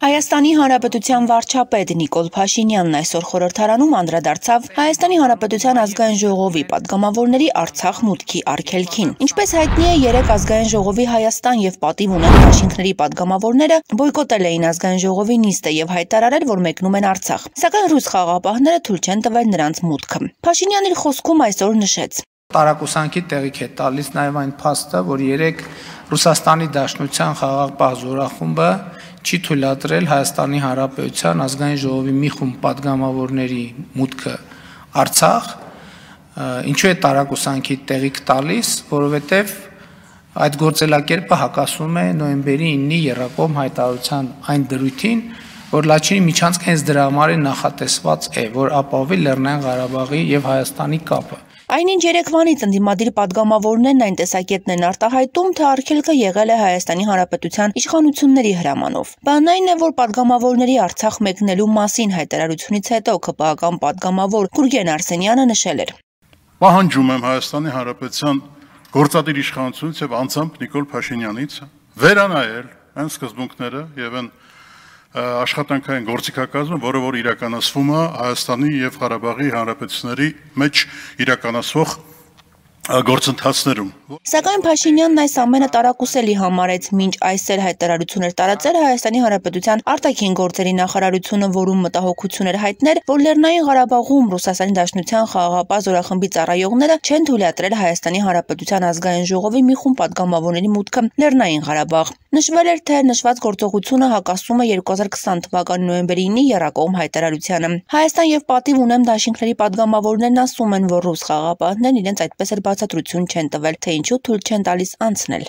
Հայաստանի Հանրապետության վարչապետ Նիկոլ Փաշինյանն այսօր խորհրդարանում անդրադարձավ Հայաստանի Հանրապետության ազգային ժողովի պատգամավորների Արցախ մուտքի արգելքին։ Ինչպես հայտնի է, երեք ազգային ժողովի Հայաստան եւ պատիվ ունեն դաշինքների պատգամավորները բոյկոտել էին ազգային ժողովի նիստը եւ հայտարարել, որ մեկնում են Արցախ։ Սակայն ռուս խաղաղապահները թույլ չեն տվել նրանց մուտքը։ Փաշինյանն իր խոսքում այսօր նշեց. Տարակուսանքի տեղիք է տալիս նաև այն փաստը, որ երեք Ռուսաստանի Դաշնության խաղաղապահ զորախումբը չի թույլատրել Հայաստանի Հանրապետության ազգային ժողովի մի խումբ պատգամավորների մուտքը Արցախ, ինչու է տարակուսանքի տեղիք տալիս, որովհետև այդ գործելակերպը հակասում է նոյեմբերի 9-ի եռակողմ հայտարարության այն դրույթին, որ Լաչինի միջանցքը հենց դրա համար նախատեսված է, որ ապահովի Լեռնային Ղարաբաղի եւ Հայաստանի կապը։ Այնինչ երեկվանից ընդդիմադիր պատգամավորներն այն տեսակետն են արտահայտում, թե արգելքը եղել է Հայաստանի Հանրապետության իշխանությունների հրամանով։ Բանն այն է, որ պատգամավորների Արցախ մեկնելու մասին հայտարարությունից հետո ԿՊԱ-կան պատգամավոր Գուրգեն Արսենյանը նշել էր. Պահանջում եմ Հայաստանի Հանրապետության գործադիր իշխանությունից եւ անձամբ Նիկոլ Փաշինյանից վերանայել այն սկզբունքները եւ այն աշխատանքային գործիքակազմը, որը որ իրականացվում է Հայաստանի եւ Ղարաբաղի հանրապետությունների մեջ իրականացվող գործընթացներում։ Սակայն Փաշինյանն այս ամենը տարակուսելի համարեց, մինչ այսօր հայտարարություն էր տարածել Հայաստանի Հանրապետության արտաքին գործերի նախարարությունը, որում մտահոգություն էր հայտնել, որ Լեռնային Ղարաբաղում Ռուսաստանի Դաշնության խաղաղապահ զորախմբի ծառայողները չեն թույլատրել Հայաստանի Հանրապետության ազգային ժողովի մի խումբ պատգամավորների մուտքը Լեռնային Ղարաբաղ։ Նշվել էր, թե նշված գործողությունը հակասում է 2020 թվականի նոյեմբերի 9-ի եռակողմ հայտարարությանը։ Հայաստան եւ պատիվ ունեմ դաշինքների պատգամավորներն ասում են, որ ռուս խաղաղապահներն իրենց այդպես էլ բացատրություն չեն տվել, թե ինչու թույլ չեն տալիս անցնել։